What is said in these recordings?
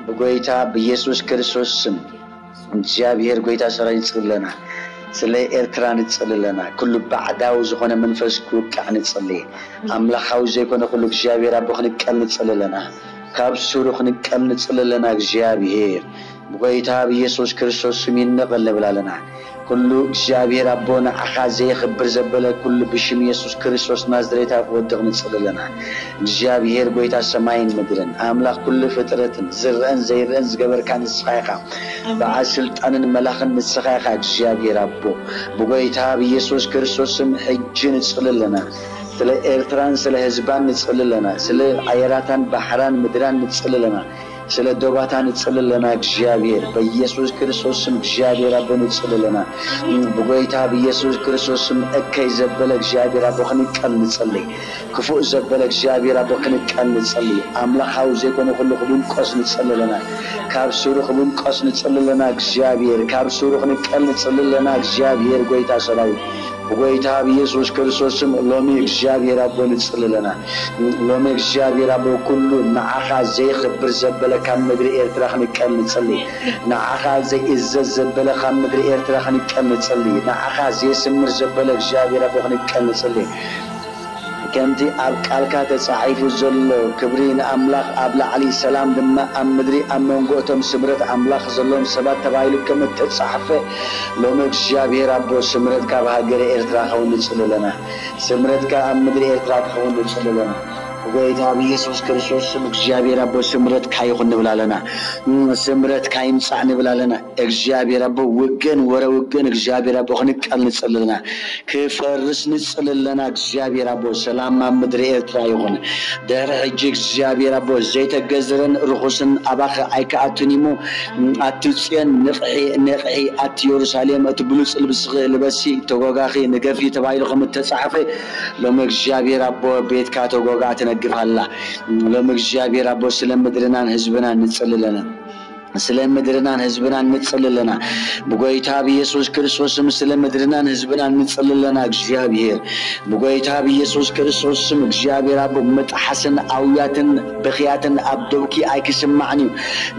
ብጎይታ ብኢየሱስ ክርስቶስ ስም እግዚኣብሔር ጎይታ ሰራዊት ንጽሊ ኣለና። ስለ ኤርትራ ንጽሊ ኣለና። ኩሉ ባዕዳዊ ዝኾነ መንፈስ ክውቃዕ ንጽሊ። ኣምላኻዊ ዘይኮነ ኩሉ እግዚኣብሔር ኣቦ ክንቀል ንጽሊ ኣለና። ካብ ሱሩ ክንቀል ንጽሊ ኣለና። እግዚኣብሔር ብጎይታ ብኢየሱስ ክርስቶስ ስም ይነቐል ንብል ኣለና። ኩሉ እግዚኣብሔር ኣቦ ንዓኻ ዘየኽብር ዘበለ ኩሉ ብሽም ኢየሱስ ክርስቶስ ናዝሬታ ክወድቕ ንጽሊ ኣለና። እግዚኣብሔር ጎይታ ሰማይን ምድርን ኣምላኽ ኩሉ ፍጥረትን ዝረአን ዘይረአን ዝገበርካ ንስኻ ኢኻ። በዓል ስልጣንን መላኽን ንስኻ ኢኻ እግዚኣብሔር ኣቦ። ብጎይታ ብኢየሱስ ክርስቶስ ስም ሕጂ ንጽሊ ኣለና። ስለ ኤርትራን ስለ ህዝባን ንጽሊ ኣለና። ስለ ኣየራታን ባሕራን ምድራን ንጽሊ ኣለና። ስለ ዶባታ ንጽሊ ኣለና እግዚኣብሔር። በኢየሱስ ክርስቶስ ስም እግዚኣብሔር ኣቦ ንጽሊ ኣለና። ብጎይታ ብኢየሱስ ክርስቶስ ስም እከይ ዘበለ እግዚኣብሔር ኣቦ ክንቀል ንጽሊ። ክፉእ ዘበለ እግዚኣብሔር ኣቦ ክንቀል ንጽሊ። ኣምላኻዊ ዘይኮነ ኩሉ ክብንቆስ ንጽሊ ኣለና። ካብ ሱሩ ክብንቆስ ንጽሊ ኣለና እግዚኣብሔር። ካብ ሱሩ ክንቀል ንጽሊ ኣለና እግዚኣብሔር ጎይታ ሰራዊት። ብጎይታ ብኢየሱስ ክርስቶስ ስም ሎሚ እግዚኣብሔር ኣቦ ንጽሊ ኣለና። ሎሚ እግዚኣብሔር ኣቦ ኩሉ ንዓኻ ዘይኽብር ዘበለ ካብ ምድሪ ኤርትራ ክንቀል ንጽሊ። ንዓኻ ዘይእዘዝ ዘበለ ካብ ምድሪ ኤርትራ ክንቀል ንጽሊ። ንዓኻ ዘየስምር ዘበለ እግዚኣብሔር ኣቦ ክንቀል ንጽሊ። ከምቲ ኣብ ቃልካ ተጻሒፉ ዘሎ፣ ክብሪ ንኣምላኽ ኣብ ላዕሊ፣ ሰላም ድማ ኣብ ምድሪ፣ ኣብ መንጎ እቶም ስምረት ኣምላኽ ዘለዎም ሰባት ተባሂሉ ከም እተጻሕፈ፣ ሎሚ እግዚኣብሔር ኣቦ ስምረትካ ኣብ ሃገረ ኤርትራ ክኸውን ንጽሊ ኣለና። ስምረትካ ኣብ ምድሪ ኤርትራ ክኸውን ንጽሊ ኣለና። ብጎይታ ብኢየሱስ ክርስቶስ ስም እግዚኣብሔር ኣቦ ስምረትካ ይኹን ንብል ኣለና። ስምረትካ ይምጻእ ንብል ኣለና። እግዚኣብሔር ኣቦ ውግእን ወረ ውግእን እግዚኣብሔር ኣቦ ክንቀል ንጽሊ ኣለና። ክፈርስ ንጽሊ ኣለና። እግዚኣብሔር ኣቦ ሰላም ኣብ ምድሪ ኤርትራ ይኹን። ድሕሪ ሕጂ እግዚኣብሔር ኣቦ ዘይተገዝረን ርኹስን ኣባኺ ኣይከኣቱን እሞ፣ ኣቲ ጽዮን ንቕሒ ንቕሒ፣ ኣቲ የሩሳሌም እቲ ብሉጽ ልብስኺ ልበሲ፣ ተጎጋኺ ንገፊ ተባሂሉ ከም እተጻሕፈ፣ ሎሚ እግዚኣብሔር ኣቦ ቤትካ ተጎጋ ትነግፍ ኣላ። ሎሚ እግዚኣብሔር ኣቦ ስለ ምድርናን ህዝብናን ንጽሊ ኣለና። ስለ ምድርናን ህዝብናን ንጽሊ ኣለና። ብጎይታ ብኢየሱስ ክርስቶስ ስም ስለ ምድርናን ህዝብናን ንጽሊ ኣለና። እግዚኣብሔር ብጎይታ ብኢየሱስ ክርስቶስ ስም እግዚኣብሔር ኣቦ ምጥሓስን ኣውያትን ብኽያትን ኣብ ደውኪ ኣይክስማዕን እዩ።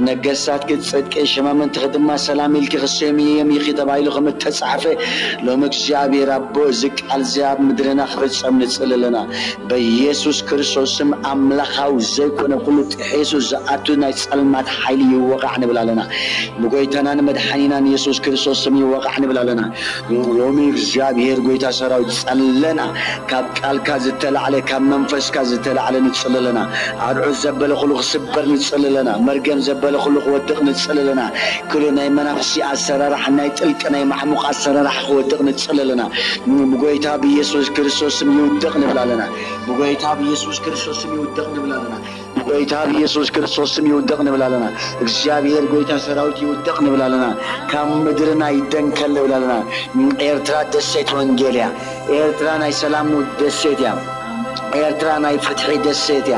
ነገስታትኪ ጽድቂ ሸማምንትኺ ድማ ሰላም ኢልኪ ክሰምዮም ኢኺ ተባሂሉ ከም እተጻሕፈ ሎሚ እግዚኣብሔር ኣቦ እዚ ቃል እዚ ኣብ ምድርና ክፍጸም ንጽሊ ኣለና። በኢየሱስ ክርስቶስ ስም ኣምላኻዊ ዘይኮነ ኩሉ ጥሒሱ ዝኣቱ ናይ ጸልማት ሓይሊ ይወቓዕ ንብል ኣለና። ብጎይታናን መድሓኒናን ኢየሱስ ክርስቶስ ስም ይወቓዕ ንብል ኣለና። ሎሚ እግዚኣብሔር ጎይታ ሰራዊት ጸለና፣ ካብ ቃልካ ዝተላዕለ፣ ካብ መንፈስካ ዝተላዕለ ንጽሊ ኣለና። ኣርዑት ዘበለ ኩሉ ክስበር ንጽሊ ኣለና። መርገም ዘበለ ኩሉ ክወድቕ ንጽሊ ኣለና። ኩሉ ናይ መናፍስቲ ኣሰራርሓ፣ ናይ ጥልቂ ናይ ማዕሙቕ ኣሰራርሓ ክወድቕ ንጽሊ ኣለና። ብጎይታ ብኢየሱስ ክርስቶስ ስም ይውደቕ ንብል ኣለና። ብጎይታ ብኢየሱስ ክርስቶስ ስም ይውደቕ ንብል ኣለና። ብጎይታ ብኢየሱስ ክርስቶስ ስም ይውደቕ ንብል ኣለና። እግዚኣብሔር ጎይታ ሰራዊት ይውደቕ ንብል ኣለና። ካብ ምድርና ይደንከል ንብል ኣለና። ኤርትራ ደሴት ወንጌል እያ። ኤርትራ ናይ ሰላም ደሴት እያ። ኤርትራ ናይ ፍትሒ ደሴት እያ።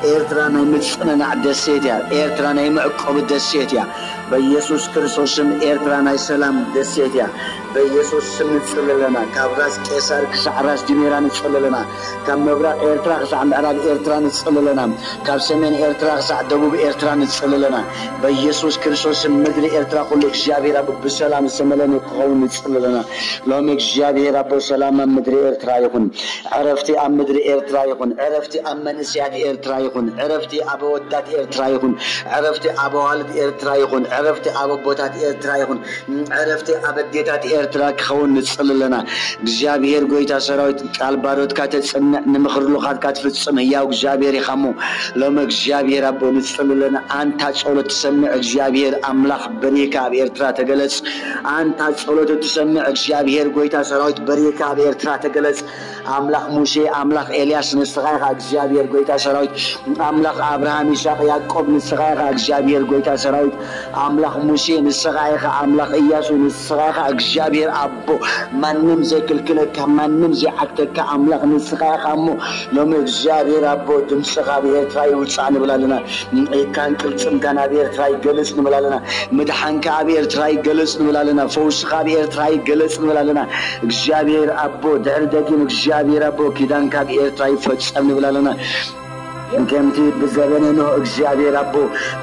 ኤርትራ ናይ ምጽንናዕ ደሴት እያ። ኤርትራ ናይ መዕቆቢ ደሴት እያ። በኢየሱስ ክርስቶስ ስም ኤርትራ ናይ ሰላም ደሴት እያ። በኢየሱስ ስም ንጽሊ ኣለና። ካብ ራስ ቄሳር ክሳዕ ራስ ዲሜራ ንጽሊ ኣለና። ካብ ምብራቕ ኤርትራ ክሳዕ ምዕራብ ኤርትራ ንጽሊ ኣለና። ካብ ሰሜን ኤርትራ ክሳዕ ደቡብ ኤርትራ ንጽሊ ኣለና። በኢየሱስ ክርስቶስ ስም ምድሪ ኤርትራ ኩሉ እግዚኣብሔር ኣብ ብሰላም ዝተመለነ ክኸውን ንጽሊ ኣለና። ሎሚ እግዚኣብሔር ኣቦ ሰላም ኣብ ምድሪ ኤርትራ ይኹን። ዕረፍቲ ኣብ ምድሪ ኤርትራ ይኹን። ዕረፍቲ ኣብ መንእሰያት ኤርትራ ይኹን። ዕረፍቲ ኣብ ኣወዳት ኤርትራ ይኹን። ዕረፍቲ ኣብ ኣዋልድ ኤርትራ ይኹን። ዕረፍቲ ኣብ ኣቦታት ኤርትራ ይኹን። ዕረፍቲ ኣብ ኣዴታት ኤርትራ ክኸውን ንጽሊ ኣለና። እግዚኣብሔር ጎይታ ሰራዊት ቃል ባሮትካ ተጽንዕ፣ ንምኽሪ ልኡኻትካ ትፍጽም ህያው እግዚኣብሔር ኢኻ እሞ፣ ሎሚ እግዚኣብሔር ኣቦ ንጽሊ ኣለና። ኣንታ ጸሎት ትሰምዕ እግዚኣብሔር ኣምላኽ በሪህካ ኣብ ኤርትራ ተገለጽ። ኣንታ ጸሎት እትሰምዕ እግዚኣብሔር ጎይታ ሰራዊት በሪህካ ኣብ ኤርትራ ተገለጽ። ኣምላኽ ሙሴ፣ ኣምላኽ ኤልያስ ንስኻ ኢኻ እግዚኣብሔር ጎይታ ሰራዊት። ኣምላኽ ኣብርሃም፣ ይስሐቅ፣ ያዕቆብ ንስኻ ኢኻ እግዚኣብሔር ጎይታ ሰራዊት። ኣምላኽ ሙሴ ንስኻ ኢኻ፣ ኣምላኽ እያሱ ንስኻ ኢኻ እግዚኣብሔር ኣቦ። ማንም ዘይክልክለካ፣ ማንም ዘይዓግተካ ኣምላኽ ንስኻ ኢኻ እሞ፣ ሎሚ እግዚኣብሔር ኣቦ ድምፅኻ ኣብ ኤርትራ ይውፃእ ንብል ኣለና። ኢድካን ቅልፅምካን ኣብ ኤርትራ ይገለፅ ንብል ኣለና። ምድሓንካ ኣብ ኤርትራ ይገለፅ ንብል ኣለና። ፈውስኻ ኣብ ኤርትራ ይገለፅ ንብል ኣለና። እግዚኣብሔር ኣቦ ድሕሪ ደጊም እግዚኣብሔር ኣቦ ኪዳንካ ኣብ ኤርትራ ይፈፀም ንብል ኣለና። ከምቲ ብዘበነ ኖህ እግዚኣብሔር ኣቦ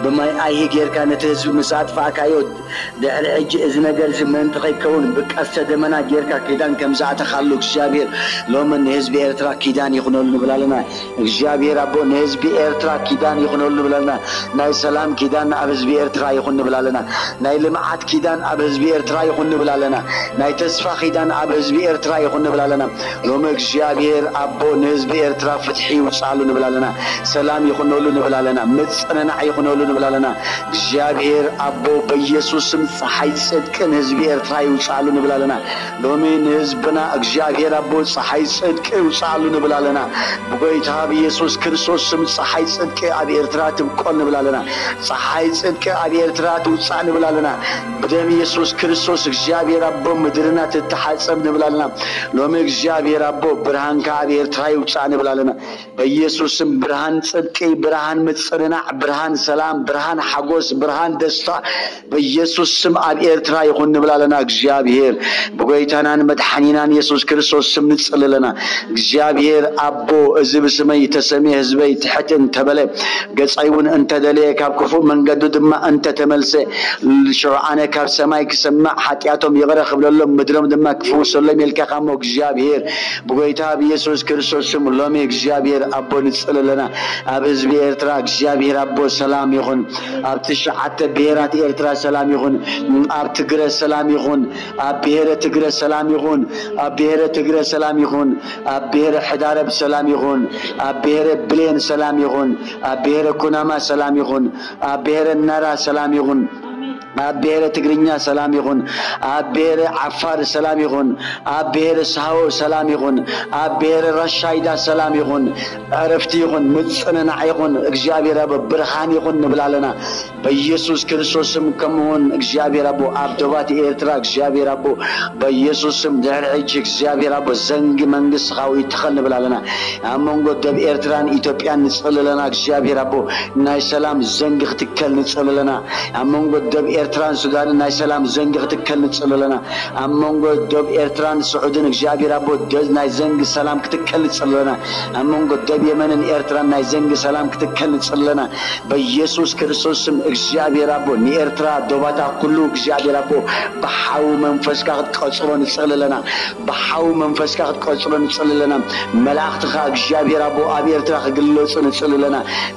ብማይ ኣይሂ ጌርካ ነቲ ህዝቢ ምስ ኣጥፋእካዮ፣ ድሕሪ ሕጂ እዚ ነገር እዚ ምእንቲ ከይከውን ብቀስተ ደመና ጌርካ ኪዳን ከም ዝኣተኻሉ እግዚኣብሔር ሎሚ ንህዝቢ ኤርትራ ኪዳን ይኹነሉ ንብል ኣለና። እግዚኣብሔር ኣቦ ንህዝቢ ኤርትራ ኪዳን ይኹነሉ ንብል ኣለና። ናይ ሰላም ኪዳን ኣብ ህዝቢ ኤርትራ ይኹን ንብል ኣለና። ናይ ልምዓት ኪዳን ኣብ ህዝቢ ኤርትራ ይኹን ንብል ኣለና። ናይ ተስፋ ኪዳን ኣብ ህዝቢ ኤርትራ ይኹን ንብል ኣለና። ሎሚ እግዚኣብሔር ኣቦ ንህዝቢ ኤርትራ ፍትሒ ይውፅኣሉ ንብል ኣለና። ሰላም ይኹነሉ ንብል ኣለና። ምፅንናዕ ይኹነሉ ንብል ኣለና። እግዚኣብሔር ኣቦ በኢየሱስ ስም ፀሓይ ጽድቂ ንህዝቢ ኤርትራ ይውፅኣሉ ንብል ኣለና። ሎሚ ንህዝብና እግዚኣብሔር ኣቦ ፀሓይ ጽድቂ ይውፅኣሉ ንብል ኣለና። ብጎይታ ብኢየሱስ ክርስቶስ ስም ፀሓይ ጽድቂ ኣብ ኤርትራ ትብቆል ንብል ኣለና። ፀሓይ ጽድቂ ኣብ ኤርትራ ትውፃእ ንብል ኣለና። ብደም ኢየሱስ ክርስቶስ እግዚኣብሔር ኣቦ ምድርና ትተሓጸብ ንብል ኣለና። ሎሚ እግዚኣብሔር ኣቦ ብርሃንካ ኣብ ኤርትራ ይውፃእ ንብል ኣለና። በኢየሱስ ስም ብርሃን ጽድቂ፣ ብርሃን ምጽንናዕ፣ ብርሃን ሰላም፣ ብርሃን ሓጎስ፣ ብርሃን ደስታ በኢየሱስ ስም ኣብ ኤርትራ ይኹን ንብል ኣለና። እግዚኣብሔር ብጎይታናን መድሓኒናን ኢየሱስ ክርስቶስ ስም ንጽሊ ኣለና። እግዚኣብሔር ኣቦ እዚ ብስመይ ተሰምየ ህዝበይ ትሕት እንተበለ ገጸይ እውን እንተደለየ ካብ ክፉእ መንገዱ ድማ እንተተመልሰ ሽዑ ኣነ ካብ ሰማይ ክሰምዕ ሓጢኣቶም ይቕረ ክብለሎም ምድሮም ድማ ክፍውሰሎም ኢልካ እሞ እግዚኣብሔር ብጎይታ ብኢየሱስ ክርስቶስ ስም ሎሚ እግዚኣብሔር ኣቦ ንጽሊ ኣለና። ኣብ ህዝቢ ኤርትራ እግዚኣብሔር ኣቦ ሰላም ይኹን። ኣብ ትሽዓተ ብሔራት ኤርትራ ሰላም ይኹን። ኣብ ትግረ ሰላም ይኹን። ኣብ ብሔረ ትግረ ሰላም ይኹን። ኣብ ብሔረ ትግረ ሰላም ይኹን። ኣብ ብሔረ ሕዳረብ ሰላም ይኹን። ኣብ ብሔረ ብሌን ሰላም ይኹን። ኣብ ብሔረ ኩናማ ሰላም ይኹን። ኣብ ብሔረ ናራ ሰላም ይኹን። ኣብ ብሔረ ትግርኛ ሰላም ይኹን። ኣብ ብሔረ ዓፋር ሰላም ይኹን። ኣብ ብሔረ ሳሆ ሰላም ይኹን። ኣብ ብሔረ ራሻይዳ ሰላም ይኹን። ዕረፍቲ ይኹን። ምጽንናዕ ይኹን። እግዚኣብሔር ኣብ ብርሃን ይኹን ንብል ኣለና። በኢየሱስ ክርስቶስ ስም ከምኡውን እግዚኣብሔር ኣቦ ኣብ ዶባት ኤርትራ እግዚኣብሔር ኣቦ በኢየሱስ ስም ድሕሪ ሕጂ እግዚኣብሔር ኣቦ ዘንጊ መንግስትኻ ይትኸል ንብል ኣለና። ኣብ መንጎ ደብ ኤርትራን ኢትዮጵያን ንጽሊ ኣለና። እግዚኣብሔር ኣቦ ናይ ሰላም ዘንጊ ክትከል ንጽሊ ኣለና። ኣብ መንጎ ደብ ኤርትራን ሱዳንን ናይ ሰላም ዘንጊ ክትከል ንጽሊ ኣለና። ኣብ መንጎ ደብ ኤርትራን ስዑድን እግዚኣብሔር ኣቦ ደ- ናይ ዘንጊ ሰላም ክትከል ንጽሊ ኣለና። ኣብ መንጎ ደብ የመንን ኤርትራን ናይ ዘንጊ ሰላም ክትከል ንጽሊ ኣለና። በኢየሱስ ክርስቶስ ስም እግዚኣብሔር ኣቦ ንኤርትራ ዶባታ ኩሉ እግዚኣብሔር ኣቦ ብሓዊ መንፈስካ ክትቀጽሮ ንጽሊ ኣለና። ብሓዊ መንፈስካ ክትቀጽሮ ንጽሊ ኣለና። መላእኽትኻ እግዚኣብሔር ኣቦ ኣብ ኤርትራ ክግለጹ ንጽሊ ኣለና።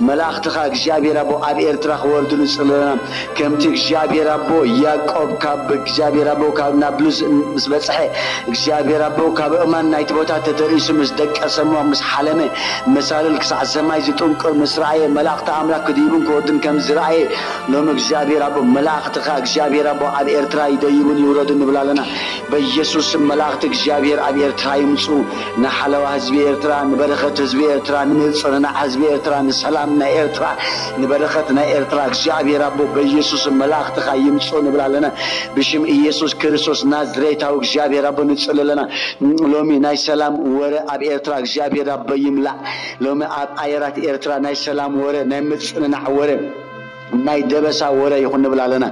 መላእኽትኻ እግዚኣብሔር ኣቦ ኣብ ኤርትራ ክወርዱ ንጽሊ ኣለና። ከምቲ እግዚኣብሔር ኣቦ ያዕቆብ ካብ እግዚኣብሔር ኣቦ ካብ ናብሉስ ምስ በጽሐ እግዚኣብሔር ኣቦ ካብ እማን ናይቲ ቦታ ተተሪሱ ምስ ደቀሰ እሞ ምስ ሓለመ መሳልል ክሳዕ ሰማይ ዝጥንቁር ምስ ረኣየ መላእኽቲ ኣምላኽ ክድይቡን ክወርዱን ከም ዝረኣየ ሎሚ እግዚኣብሔር ኣቦ መላእኽትኻ እግዚኣብሔር ኣቦ ኣብ ኤርትራ ይደይቡን ይውረዱ ንብል ኣለና። በኢየሱስ ስም መላእኽቲ እግዚኣብሔር ኣብ ኤርትራ ይምጹ። ንሓለዋ ህዝቢ ኤርትራ፣ ንበረኸት ህዝቢ ኤርትራ፣ ንምጽንናዕ ህዝቢ ኤርትራ፣ ንሰላም ናይ ኤርትራ፣ ንበረኸት ናይ ኤርትራ እግዚኣብሔር ኣቦ በኢየሱስ ስም መላእኽትኻ ይምጹ ንብል ኣለና። ብሽም ኢየሱስ ክርስቶስ ናዝሬታዊ እግዚኣብሔር ኣቦ ንጽሊ ኣለና። ሎሚ ናይ ሰላም ወረ ኣብ ኤርትራ እግዚኣብሔር ኣቦ ይምላእ። ሎሚ ኣብ ኣየራት ኤርትራ ናይ ሰላም ወረ፣ ናይ ምጽንናዕ ወረ፣ ናይ ደበሳ ወረ ይኹን ንብል ኣለና።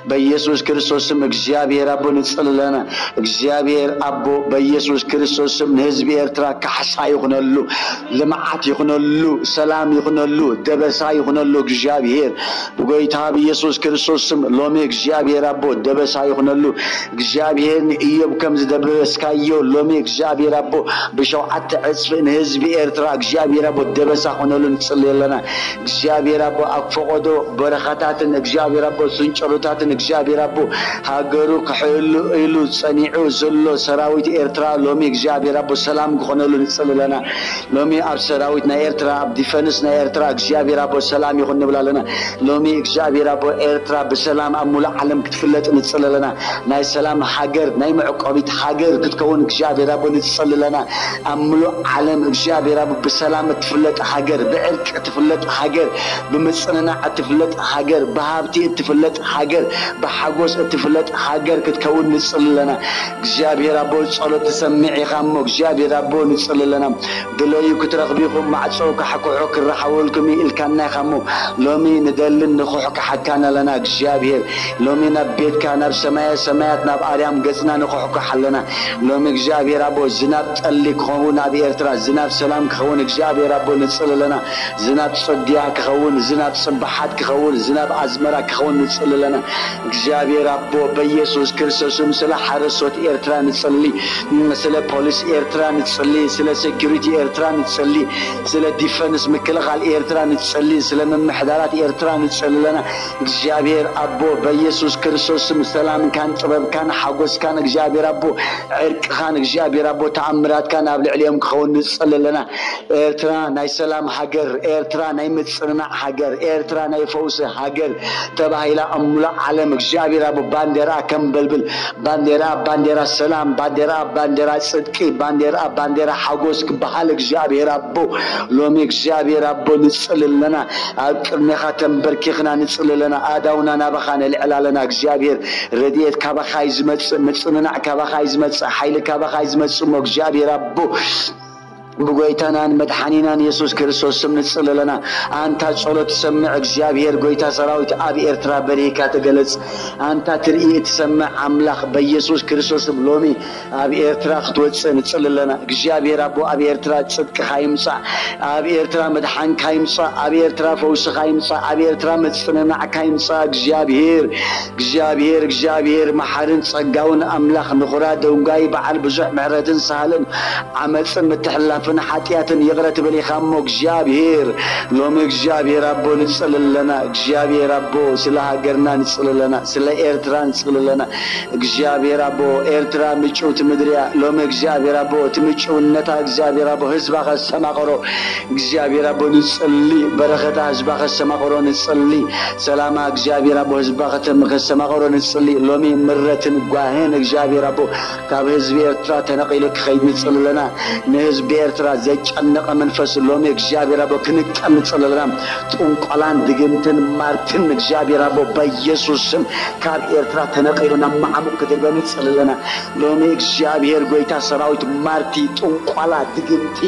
በኢየሱስ ክርስቶስ ስም እግዚኣብሔር ኣቦ ንጽሊ ኣለና። እግዚኣብሔር ኣቦ በኢየሱስ ክርስቶስ ስም ንህዝቢ ኤርትራ ካሕሳ ይኹነሉ፣ ልምዓት ይኹነሉ፣ ሰላም ይኹነሉ፣ ደበሳ ይኹነሉ። እግዚኣብሔር ብጎይታ ብኢየሱስ ክርስቶስ ስም ሎሚ እግዚኣብሔር ኣቦ ደበሳ ይኹነሉ። እግዚኣብሔር ንእዮብ ከም ዝደበስካዮ ሎሚ እግዚኣብሔር ኣቦ ብሸውዓተ ዕጽፊ ንህዝቢ ኤርትራ እግዚኣብሔር ኣቦ ደበሳ ኾነሉ ንጽሊ ኣለና። እግዚኣብሔር ኣቦ ኣብ ፈቐዶ በረኻታትን እግዚኣብሔር ኣቦ ስንጭሮታትን እግዚኣብሔር ኣቦ ሃገሩ ክሕሉ ኢሉ ጸኒዑ ዘሎ ሰራዊት ኤርትራ ሎሚ እግዚኣብሔር ኣቦ ሰላም ክኾነሉ ንጽሊ ኣለና። ሎሚ ኣብ ሰራዊት ናይ ኤርትራ ኣብ ዲፈንስ ናይ ኤርትራ እግዚኣብሔር ኣቦ ሰላም ይኹን ንብል ኣለና። ሎሚ እግዚኣብሔር ኣቦ ኤርትራ ብሰላም ኣብ ሙሉእ ዓለም ክትፍለጥ ንጽሊ ኣለና። ናይ ሰላም ሃገር ናይ መዕቆቢት ሃገር ክትከውን እግዚኣብሔር ኣቦ ንጽሊ ኣለና። ኣብ ሙሉእ ዓለም እግዚኣብሔር ኣቦ ብሰላም እትፍለጥ ሃገር ብዕርቂ እትፍለጥ ሃገር ብምጽንናዕ እትፍለጥ ሃገር፣ ብሃብቲ እትፍለጥ ሃገር፣ ብሓጎስ እትፍለጥ ሃገር ክትከውን ንጽሊ ኣለና። እግዚኣብሔር ኣቦ፣ ጸሎት ትሰምዕ ኢኻ እሞ እግዚኣብሔር ኣቦ ንጽሊ ኣለና። ድለዩ ክትረኽቡ ኢኹም፣ ማዕጾ ካሕኩሑ ክረሓወልኩም እዩ ኢልካና ኢኻ እሞ ሎሚ ንደልን ንኹሕካሓካን ኣለና እግዚኣብሔር። ሎሚ ናብ ቤትካ ናብ ሰማየ ሰማያት ናብ ኣርያም ገጽና ንኹሕኩሕ ኣለና። ሎሚ እግዚኣብሔር ኣቦ ዝናብ ጠሊ ክኸውን ኣብ ኤርትራ፣ ዝናብ ሰላም ክኸውን እግዚኣብሔር ኣቦ ንጽሊ ኣለና። ዝናብ ጽድያ ክኸውን፣ ዝናብ ጽብሓት ክኸውን፣ ዝናብ ኣዝመራ ክኸውን ንጽሊ ኣለና። እግዚኣብሔር ኣቦ በኢየሱስ ክርስቶስም ስለ ሓረሶት ኤርትራ ንጽሊ፣ ስለ ፖሊስ ኤርትራ ንጽሊ፣ ስለ ሴኩሪቲ ኤርትራ ንጽሊ፣ ስለ ዲፈንስ ምክልኻል ኤርትራ ንጽሊ፣ ስለ ምምሕዳራት ኤርትራ ንጽሊ ኣለና። እግዚኣብሔር ኣቦ በኢየሱስ ክርስቶስም ሰላምካን ጥበብካን ሓጎስካን እግዚኣብሔር ኣቦ ዕርቅኻን እግዚኣብሔር ኣቦ ተኣምራትካን ኣብ ልዕሊኦም ክኸውን ንጽሊ ኣለና። ኤርትራ ናይ ሰላም ሃገር፣ ኤርትራ ናይ ምጽንናዕ ሃገር፣ ኤርትራ ናይ ፈውሲ ሃገር ተባሂላ ኣብ ሙሉእ ዓለም እግዚኣብሔር ኣቦ ባንዴራ ከም በልብል፣ ባንዴራ ባንዴራ ሰላም፣ ባንዴራ ባንዴራ ጽድቂ፣ ባንዴራ ባንዴራ ሓጎስ ክበሃል እግዚኣብሔር ኣቦ ሎሚ እግዚኣብሔር ኣቦ ንጽሊ ኣለና። ኣብ ቅድሜኻ ተንበርኪኽና ንጽሊ ኣለና። ኣእዳውና ናባኻ ነልዕል ኣለና እግዚኣብሔር። ረድኤት ካባኻ እዩ ዝመጽእ፣ ምጽንናዕ ካባኻ እዩ ዝመጽእ፣ ሓይሊ ካባኻ እዩ ዝመጽእ እሞ እግዚኣብሔር ኣቦ ብጎይታናን መድሓኒናን የሱስ ክርስቶስ ስም ንጽሊ ኣለና። ኣንታ ጸሎት ትሰምዕ እግዚኣብሔር ጎይታ ሰራዊት ኣብ ኤርትራ በሪህካ ተገለጽ። ኣንታ ትርኢ እትሰምዕ ኣምላኽ በየሱስ ክርስቶስ ስም ሎሚ ኣብ ኤርትራ ክትወጽእ ንጽሊ ኣለና። እግዚኣብሔር ኣቦ ኣብ ኤርትራ ጽድቅኻ ይምጻእ፣ ኣብ ኤርትራ መድሓንካ ይምጻእ፣ ኣብ ኤርትራ ፈውስኻ ይምጻእ፣ ኣብ ኤርትራ ምጽንናዕካ ይምጻእ። እግዚኣብሔር እግዚኣብሔር እግዚኣብሔር መሓርን ጸጋውን ኣምላኽ ንኹራ ደንጓይ በዓል ብዙሕ ምሕረትን ሳህልን ዓመፅን ምትሕልላፍን ሓጢኣትን ይቕረ ትብል ኢኻ እሞ እግዚኣብሔር ሎሚ እግዚኣብሔር ኣቦ ንፅሊ ኣለና። እግዚኣብሔር ኣቦ ስለ ሃገርና ንፅሊ ኣለና፣ ስለ ኤርትራ ንፅሊ ኣለና። እግዚኣብሔር ኣቦ ኤርትራ ምጭውቲ ምድሪ እያ። ሎሚ እግዚኣብሔር ኣቦ እቲ ምጭውነታ እግዚኣብሔር ኣቦ ህዝባ ከስተማቕሮ እግዚኣብሔር ኣቦ ንፅሊ፣ በረኸታ ህዝባ ከስተማቕሮ ንፅሊ፣ ሰላማ እግዚኣብሔር ኣቦ ህዝባ ከተም ከስተማቕሮ ንፅሊ። ሎሚ ምረትን ጓህን እግዚኣብሔር ኣቦ ካብ ህዝቢ ኤርትራ ተነቒሉ ክኸይድ ንፅሊ ኣለና። ንህዝቢ ኤርትራ ዘጨነቐ መንፈስ ሎሚ እግዚኣብሔር ኣቦ ክንቀል ንፅሊ ኣለና። ጥንቆላን ድግምትን ማርትን እግዚኣብሔር ኣቦ በኢየሱስ ስም ካብ ኤርትራ ተነቒሉ ናብ መዓሙቕ ክድርበ ንፅሊ ኣለና። ሎሚ እግዚኣብሔር ጎይታ ሰራዊት ማርቲ፣ ጥንቆላ፣ ድግምቲ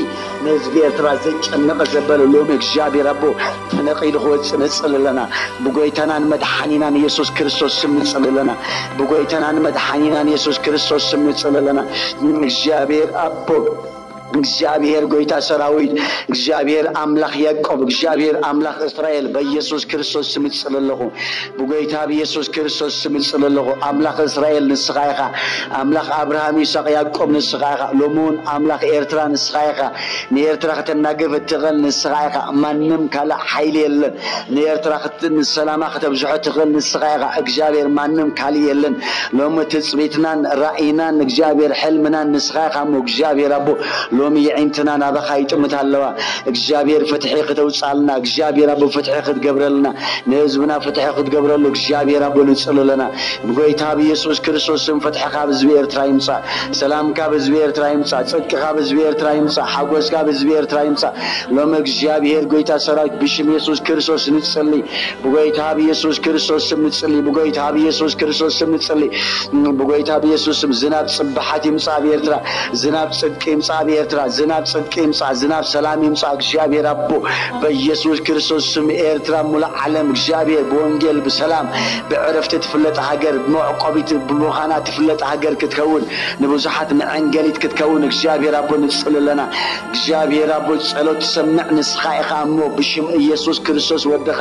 ንህዝቢ ኤርትራ ዘጨነቐ ዘበለ ሎሚ እግዚኣብሔር ኣቦ ተነቒሉ ክወፅእ ንፅሊ ኣለና። ብጎይታናን መድሓኒናን የሱስ ክርስቶስ ስም ንፅሊ ኣለና። ብጎይታናን መድሓኒናን የሱስ ክርስቶስ ስም ንፅሊ ኣለና። እግዚኣብሔር ኣቦ፣ እግዚኣብሔር ጎይታ ሰራዊት፣ እግዚኣብሔር ኣምላኽ ያዕቆብ፣ እግዚኣብሔር ኣምላኽ እስራኤል በኢየሱስ ክርስቶስ ስም እጽሊ ኣለኹ። ብጎይታ ብየሱስ ክርስቶስ ስም እጽሊ ኣለኹ። ኣምላኽ እስራኤል ንስኻ ኢኻ። ኣምላኽ ኣብርሃም፣ ይስሐቅ፣ ያዕቆብ ንስኻ ኢኻ። ሎሚ እውን ኣምላኽ ኤርትራ ንስኻ ኢኻ። ንኤርትራ ከተናግፍ እትኽእል ንስኻ ኢኻ። ማንም ካልእ ሓይሊ የለን። ንኤርትራ ክት-፣ ንሰላማ ከተብዝሖ እትኽእል ንስኻ ኢኻ እግዚኣብሔር፣ ማንም ካልእ የለን። ሎሚ ትጽቢትናን ራእይናን እግዚኣብሔር፣ ሕልምናን ንስኻ ኢኻ እሞ እግዚኣብሔር ኣቦ፣ ሎሚ የዒንትና ናባኻ ይጥምታ ኣለዋ። እግዚኣብሔር ፍትሒ ክተውፅኣልና፣ እግዚኣብሔር ኣቦ ፍትሒ ክትገብረልና፣ ንህዝብና ፍትሒ ክትገብረሉ እግዚኣብሔር ኣቦ ንጽሊ ኣለና። ብጎይታ ብየሱስ ክርስቶስ ስም ፍትሒ ካብ ህዝቢ ኤርትራ ይምጻእ። ሰላም ካብ ህዝቢ ኤርትራ ይምጻእ። ጽድቂ ካብ ህዝቢ ኤርትራ ይምጻእ። ሓጎስ ካብ ህዝቢ ኤርትራ ይምጻእ። ሎሚ እግዚኣብሔር ጎይታ ሰራዊት ብሽም የሱስ ክርስቶስ ንጽሊ። ብጎይታ ብየሱስ ክርስቶስ ስም ንጽሊ። ብጎይታ ብየሱስ ክርስቶስ ስም ንጽሊ። ብጎይታ ብየሱስ ስም ዝናብ ጽብሓት ይምጻእ ኣብ ኤርትራ። ዝናብ ጽድቂ ይምጻእ ኣብ ኤርትራ። ዝናብ ጽድቂ ይምጻእ። ዝናብ ሰላም ይምጻእ። እግዚኣብሔር ኣቦ በየሱስ ክርስቶስ ስም ኤርትራ ሙሉእ ዓለም እግዚኣብሔር ብወንጌል ብሰላም ብዕረፍቲ ትፍለጥ ሃገር፣ መዕቆቢት ብምዃና ትፍለጥ ሃገር ክትከውን፣ ንብዙሓት መዐንገሊት ክትከውን እግዚኣብሔር ኣቦ ንጽሊ ኣለና። እግዚኣብሔር ኣቦ ጸሎት ትሰምዕ ንስኻ ኢኻ እሞ ብሽም ኢየሱስ ክርስቶስ ወድኻ፣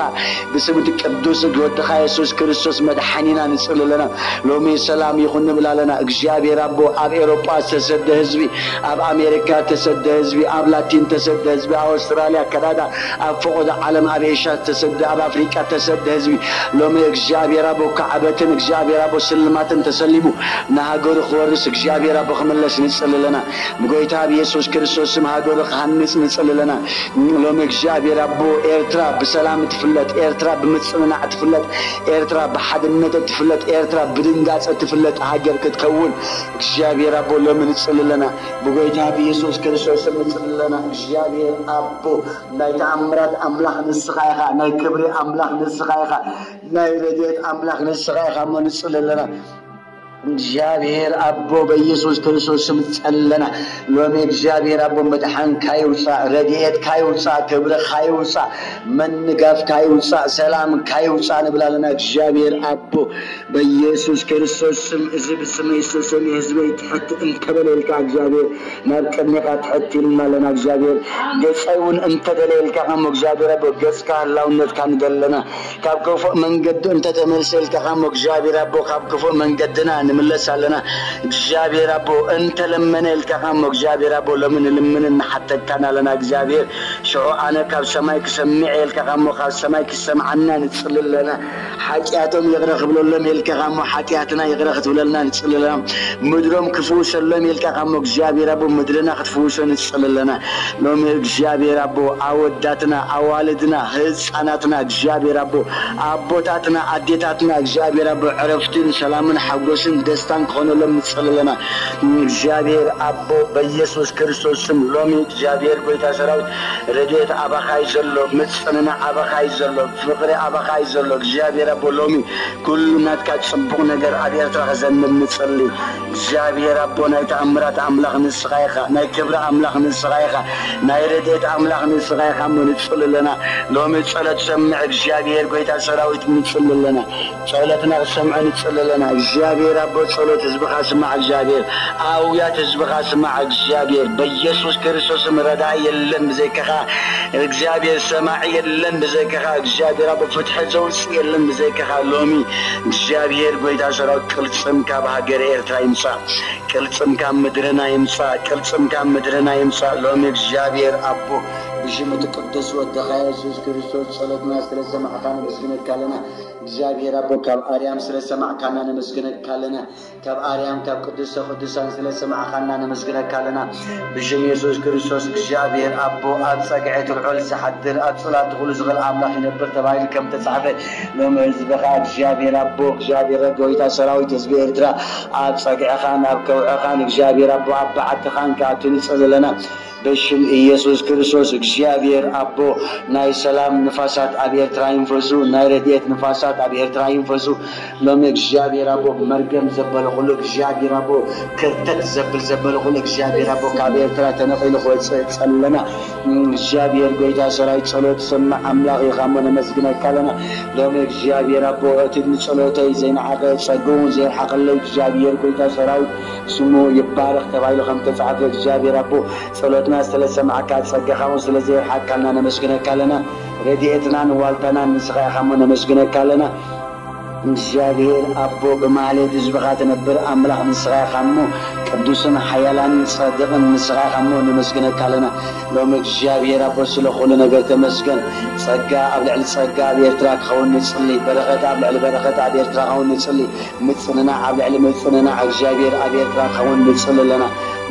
ብስም እቲ ቅዱስ ወድኻ የሱስ ክርስቶስ መድሓኒና ንጽሊ ኣለና። ሎሚ ሰላም ይኹን ንብል ኣለና። እግዚኣብሔር ኣቦ ኣብ ኤውሮጳ ዝተሰደ ህዝቢ፣ ኣብ ኣሜሪካ ዝተሰደ ህዝቢ፣ ኣብ ላቲን ዝተሰደ ህዝቢ፣ ኣብ ኣውስትራልያ፣ ካናዳ፣ ኣብ ፈቐዶ ዓለም፣ ኣብ ኤሽያ ዝተሰደ፣ ኣብ ኣፍሪቃ ዝተሰደ ህዝቢ ሎሚ እግዚኣብሔር ኣቦ ካዕበትን እግዚኣብሔር ኣቦ ስልማትን ተሰሊሙ ንሃገሩ ክወርስ እግዚኣብሔር ኣቦ ክምለስ ንጽሊ ኣለና። ብጎይታ ብየሱስ ክርስቶስ ስም ሃገሩ ክሃንጽ ንጽሊ ኣለና። ሎሚ እግዚኣብሔር ኣቦ ኤርትራ ብሰላም ትፍለጥ፣ ኤርትራ ብምጽንናዕ ትፍለጥ፣ ኤርትራ ብሓድነት ትፍለጥ፣ ኤርትራ ብድንጋጸ ትፍለጥ ሃገር ክትከውን እግዚኣብሔር ኣቦ ሎሚ ንጽሊ ኣለና። ብጎይታ ብየሱስ የሱስ ክርስቶስ ንጽሊ ኣለና። እግዚኣብሔር ኣቦ ናይ ተኣምራት ኣምላኽ ንስኻ ኢኻ፣ ናይ ክብሪ ኣምላኽ ንስኻ ኢኻ፣ ናይ ረድኤት ኣምላኽ ንስኻ ኢኻ እሞ ንጽሊ ኣለና። እግዚኣብሔር ኣቦ በኢየሱስ ክርስቶስ ስም ጸለና። ሎሚ እግዚኣብሔር ኣቦ ምድሓንካ ይውጻእ፣ ረድኤትካ ይውጻእ፣ ክብርኻ ይውጻእ፣ መንጋፍካ ይውጻእ፣ ሰላምካ ይውጻእ ንብል ኣለና። እግዚኣብሔር ኣቦ በኢየሱስ ክርስቶስ ስም፣ እዚ ብስመይ ዝተሰምየ ህዝበይ ትሕት እንተበለ ኢልካ እግዚኣብሔር ናብ ቅድሜኻ ትሕት ኢልና ኣለና። እግዚኣብሔር ገጸይ እውን እንተደለ ኢልካ ከም እግዚኣብሔር ኣቦ ገጽካ ህላውነትካ ንደለና ካብ ክፉእ መንገዲ እንተተመልሰ ኢልካ ከም እግዚኣብሔር ኣቦ ካብ ክፉእ መንገድና ንምለስ ኣለና። እግዚኣብሔር ኣቦ እንተለመነ ኢልካ ከም እግዚኣብሔር ኣቦ ሎሚ ንልምንን ንሓተካን ኣለና። እግዚኣብሔር ሽዑ ኣነ ካብ ሰማይ ክሰምዕ ኢልካ ከሞ ካብ ሰማይ ክሰምዓና ንጽሊ ኣለና። ሓጢኣቶም ይቕረ ክብለሎም ኢልካ ከሞ ሓጢኣትና ይቕረ ክትብለልና ንጽሊ ኣለና። ምድሮም ክፍውሰሎም ኢልካ ከሞ እግዚኣብሔር ኣቦ ምድርና ክትፍውሶ ንጽሊ ኣለና። ሎሚ እግዚኣብሔር ኣቦ ኣወዳትና ኣዋልድና ህፃናትና እግዚኣብሔር ኣቦ ኣቦታትና ኣዴታትና እግዚኣብሔር ኣቦ ዕረፍትን ሰላምን ሓጎስን ደስታን ክኾነሎም ንጽሊ ኣለና። እግዚኣብሔር ኣቦ በኢየሱስ ክርስቶስ ስም ሎሚ እግዚኣብሔር ጎይታ ሰራዊት ረድኤት ኣባኻይ ዘሎ፣ ምጽንናዕ ኣባኻይ ዘሎ፣ ፍቕሪ ኣባኻይ ዘሎ እግዚኣብሔር ኣቦ ሎሚ ኩሉ ናትካ ጽቡቕ ነገር ኣብ ኤርትራ ክዘንብ ንጽሊ። እግዚኣብሔር ኣቦ ናይ ተኣምራት ኣምላኽ ንስኻ ኢኻ፣ ናይ ክብሪ ኣምላኽ ንስኻ ኢኻ፣ ናይ ረድኤት ኣምላኽ ንስኻ ኢኻ እሞ ንጽሊ ኣለና። ሎሚ ጸሎት ሰምዕ እግዚኣብሔር ጎይታ ሰራዊት ንጽሊ ኣለና። ጸሎትና ክሰምዖ ንጽሊ ኣለና። እግዚኣብሔር ኣቦ ጸሎት ህዝብኻ ስማዕ። እግዚኣብሔር ኣውያት ህዝብኻ ስማዕ። እግዚኣብሔር በኢየሱስ ክርስቶስ ስም ረዳኢ የለን ብዘይካኻ። እግዚኣብሔር ሰማዒ የለን ብዘይካኻ። እግዚኣብሔር ኣቦ ፍትሒ ዘውፅእ የለን ብዘይካኻ። ሎሚ እግዚኣብሔር ጎይታ ሰራዊት ቅልጽም ካብ ሃገር ኤርትራ ይምጻእ። ቅልጽም ካብ ምድርና ይምጻእ። ቅልጽም ካብ ምድርና ይምጻእ። ሎሚ እግዚኣብሔር ኣቦ ብሽም እቲ ቅዱስ ወድኻ የሱስ ክርስቶስ ጸሎትና ስለሰማዕካ ነመስግነካ ኣለና። እግዚኣብሔር ኣቦ ካብ ኣርያም ስለሰማዕካና ነመስግነካ ኣለና። ካብ ኣርያም ካብ ቅድስተ ቅዱሳን ስለሰማዕካና ነመስግነካ ኣለና። ብሽም የሱስ ክርስቶስ እግዚኣብሔር ኣቦ ኣብ ጸግዒ እቲ ልዑል ዝሓድር ኣብ ጽላት ኩሉ ዝኽእል ኣምላኽ ይነብር ተባሂሉ ከም ተጻሕፈ ሎሚ ህዝብኻ እግዚኣብሔር ኣቦ እግዚኣብሔር ጎይታ ሰራዊት ህዝቢ ኤርትራ ኣብ ጸግዕኻን ኣብ ከውዕኻን እግዚኣብሔር ኣቦ ኣብ በዓትኻን ክኣቱ ንጽሊ ኣለና። ብሽም ኢየሱስ ክርስቶስ እግዚኣብሔር ኣቦ ናይ ሰላም ንፋሳት ኣብ ኤርትራ ይንፈሱ፣ ናይ ረድኤት ንፋሳት ኣብ ኤርትራ ይንፈሱ። ሎሚ እግዚኣብሔር ኣቦ መርገም ዘበለ ኩሉ እግዚኣብሔር ኣቦ ክርተት ዘብል ዘበለ ኩሉ እግዚኣብሔር ኣቦ ካብ ኤርትራ ተነቒሉ ክወፅእ ጸለና። እግዚኣብሔር ጎይታ ሰራዊት ጸሎት ሰማዕ ኣምላኽ ኢኻ እሞ ነመስግነካ ኣለና። ሎሚ እግዚኣብሔር ኣቦ እቲ ንጸሎተይ ዘይነዓቐ ጸግኡ ዘይርሓቐለይ እግዚኣብሔር ጎይታ ሰራዊት ስሙ ይባረኽ ተባሂሉ ከም ተጻሕፈ እግዚኣብሔር ኣቦ ጸሎትና ስለሰማዕካ ጸጋኻ እውን ስለዘይርሓካልና ነመስግነካ ኣለና። ረድኤትናን ዋልታናን ንስኻ ኢኻ እሞ ነመስግነካ ኣለና። እግዚኣብሔር ኣቦ ብማህሌት ህዝብኻ ትነብር ኣምላኽ ንስኻ ኢኻ እሞ ቅዱስን ሓያላንን ጸድቕን ንስኻ ኢኻ እሞ ነመስግነካ ኣለና። ሎሚ እግዚኣብሔር ኣቦ ስለ ኩሉ ነገር ተመስገን። ጸጋ ኣብ ልዕሊ ጸጋ ኣብ ኤርትራ ክኸውን ንጽሊ። በረኸት ኣብ ልዕሊ በረኸት ኣብ ኤርትራ ክኸውን ንጽሊ። ምጽንናዕ ኣብ ልዕሊ ምጽንናዕ እግዚኣብሔር ኣብ ኤርትራ ክኸውን ንጽሊ ኣለና።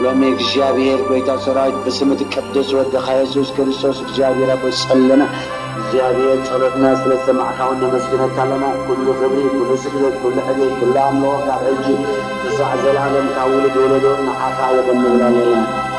ሎሚ እግዚኣብሔር ጎይታ ሰራዊት ብስም እቲ ቅዱስ ወድኻ የሱስ ክርስቶስ እግዚኣብሔር ኣቦ ጸለና። እግዚኣብሔር ጸሎትና ስለ ዝሰማዕካ እውን ነመስግነካ ኣለና። ኩሉ ክብሪ፣ ኩሉ ስግደት፣ ኩሉ ዕቤት፣ ኩሉ ኣምልኾ ካብ ሕጂ ክሳዕ ዘላለም ካብ ውሉድ ወለዶ ንዓኻ ይኹን ንብል ኣለና።